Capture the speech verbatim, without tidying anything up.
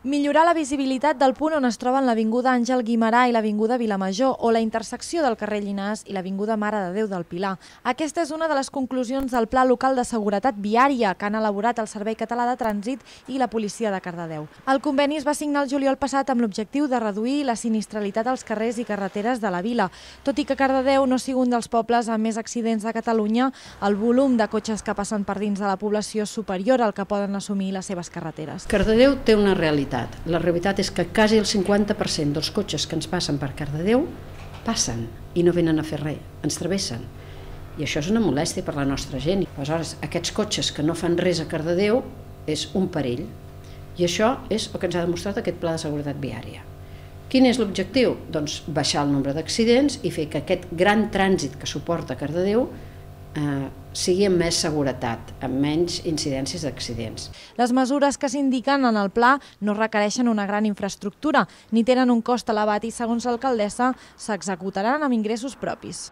Millorar la visibilitat del punt on es troben l'Avinguda Àngel Guimerà i l'Avinguda Vilamajor o la intersecció del carrer Llinars i l'Avinguda Mare de Déu del Pilar. Aquesta és una de les conclusions del Pla Local de Seguretat Viària que han elaborat el Servei Català de Trànsit i la Policia de Cardedeu. El conveni es va signar el juliol passat amb l'objectiu de reduir la sinistralitat als carrers i carreteres de la vila. Tot i que Cardedeu no sigui un dels pobles amb més accidents de Catalunya, el volum de cotxes que passen per dins de la població és superior al que poden assumir les seves carreteres. Cardedeu té una realitat. La realitat és que quasi el cinquanta per cent dels cotxes que ens passen per Cardedeu passen i no venen a fer res, ens travessen. I això és una molèstia per la nostra gent. Aleshores, aquests cotxes que no fan res a Cardedeu és un perill. I això és el que ens ha demostrat aquest Pla de Seguretat Viària. Quin és l'objectiu? Doncs baixar el nombre d'accidents i fer que aquest gran trànsit que suporta Cardedeu eh, sigui amb més seguretat, amb menys incidències d'accidents. Les mesures que s'indiquen en el pla no requereixen una gran infraestructura ni tenen un cost elevat i, segons l'alcaldessa, s'executaran amb ingressos propis.